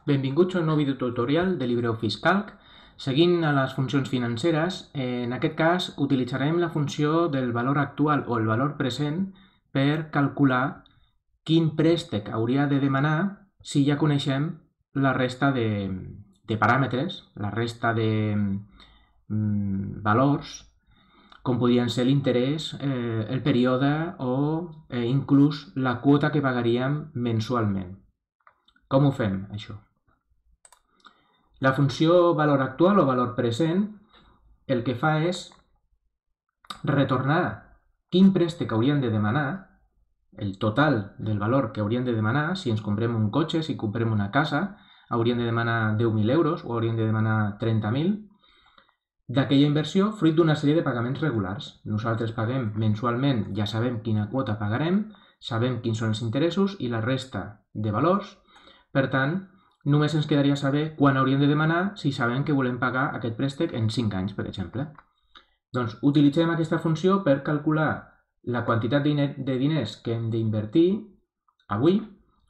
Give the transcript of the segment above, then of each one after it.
Benvinguts a un nou videotutorial de LibreOffice Calc. Seguint a les funcions financeres, en aquest cas utilitzarem la funció del valor actual o el valor present per calcular quin préstec hauria de demanar si ja coneixem la resta de paràmetres, la resta de valors, com podrien ser l'interès, el període o inclús la quota que pagaríem mensualment. Com ho fem, això? La funció valor actual o valor present el que fa és retornar quin préstec haurien de demanar, el total del valor que haurien de demanar, si ens comprem un cotxe, si comprem una casa, haurien de demanar 10.000 euros o haurien de demanar 30.000, d'aquella inversió fruit d'una sèrie de pagaments regulars. Nosaltres paguem mensualment, ja sabem quina quota pagarem, sabem quins són els interessos i la resta de valors, per tant, només ens quedaria saber quan hauríem de demanar si sabem que volem pagar aquest préstec en 5 anys, per exemple. Doncs utilitzem aquesta funció per calcular la quantitat de diners que hem d'invertir avui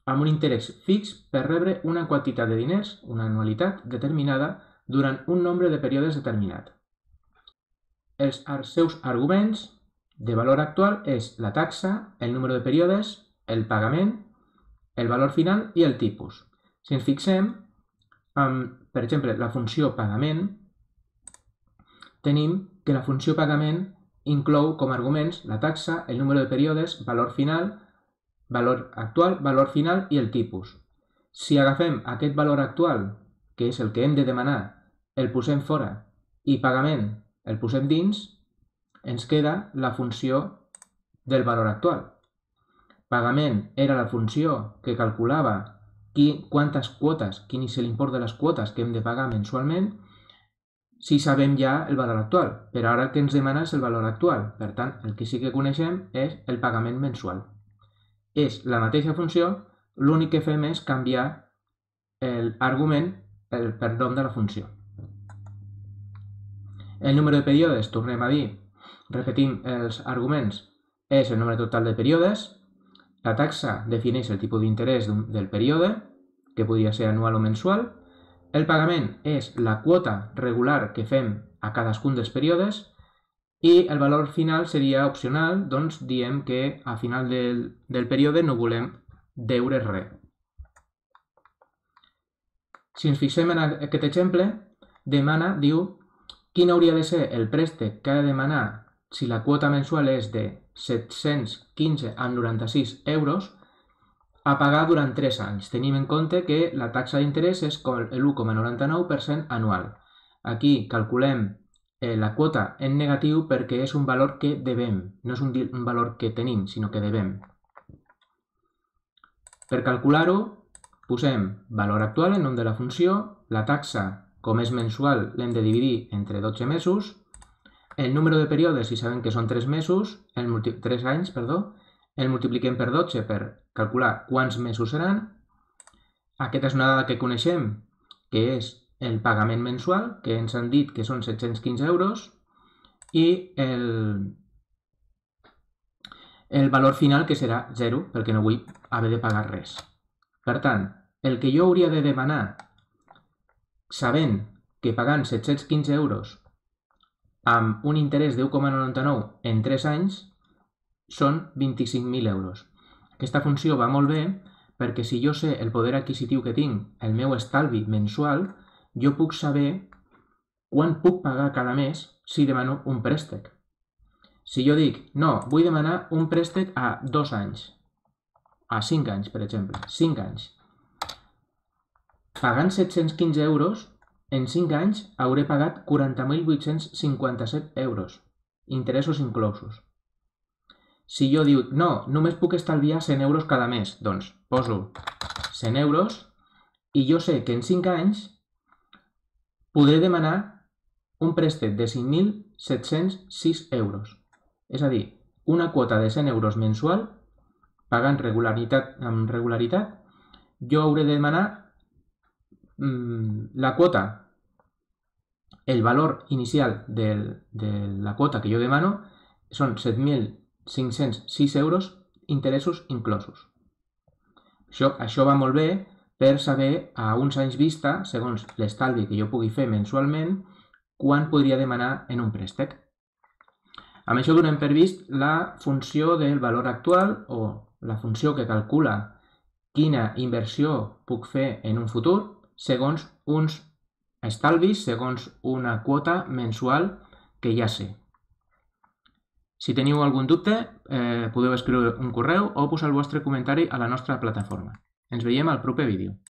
amb un interès fix per rebre una quantitat de diners, una anualitat determinada, durant un nombre de períodes determinat. Els seus arguments de valor actual és la taxa, el número de períodes, el pagament, el valor final i el tipus. Si ens fixem, per exemple, la funció pagament, tenim que la funció pagament inclou com a arguments la taxa, el número de períodes, valor final, valor actual, valor final i el tipus. Si agafem aquest valor actual, que és el que hem de demanar, el posem fora i pagament el posem dins, ens queda la funció del valor actual. Pagament era la funció que calculava quantes quotes, quin és l'import de les quotes que hem de pagar mensualment, si sabem ja el valor actual. Però ara el que ens demana és el valor actual. Per tant, el que sí que coneixem és el pagament mensual. És la mateixa funció, l'únic que fem és canviar l'argument per nom de la funció. El número de períodes, tornem a dir, repetim els arguments, és el nombre total de períodes. La taxa defineix el tipus d'interès del període, que podria ser anual o mensual. El pagament és la quota regular que fem a cadascun dels períodes i el valor final seria opcional, doncs diem que a final del període no volem deure res. Si ens fixem en aquest exemple, diu quin hauria de ser el préstec que ha de demanar si la quota mensual és de 715,96 euros a pagar durant 3 anys. Tenim en compte que la taxa d'interès és l'1,99% anual. Aquí calculem la quota en negatiu perquè és un valor que devem, no és un valor que tenim, sinó que devem. Per calcular-ho, posem valor actual en nom de la funció, la taxa, com és mensual, l'hem de dividir entre 12 mesos, el número de períodes, si sabem que són 3 mesos, 3 anys, el multipliquem per 12 per calcular quants mesos seran. Aquesta és una dada que coneixem, que és el pagament mensual, que ens han dit que són 715 euros, i el valor final, que serà 0, perquè no vull haver de pagar res. Per tant, el que jo hauria de demanar, sabent que pagant 715 euros amb un interès de 1,99 en 3 anys, són 25.000 euros. Aquesta funció va molt bé perquè si jo sé el poder adquisitiu que tinc, el meu estalvi mensual, jo puc saber quan puc pagar cada mes si demano un préstec. Si jo dic, no, vull demanar un préstec a 2 anys, a 5 anys, per exemple, 5 anys. Pagant 715 euros, en 5 anys hauré pagat 40.857 euros, interessos inclosos. Si jo dic, no, només puc estalviar 100 euros cada mes, doncs poso 100 euros i jo sé que en 5 anys podré demanar un préstec de 5.706 euros. És a dir, una quota de 100 euros mensual, pagant amb regularitat, jo hauré de demanar la quota, el valor inicial de la quota que jo demano són 7.506 euros, interessos inclosos. Això va molt bé per saber a uns anys vista, segons l'estalvi que jo pugui fer mensualment, quan podria demanar en un préstec. Amb això donem per vist la funció del valor actual o la funció que calcula quina inversió puc fer en un futur segons uns estalvis, segons una quota mensual que ja sé. Si teniu algun dubte, podeu escriure un correu o posar el vostre comentari a la nostra plataforma. Ens veiem al proper vídeo.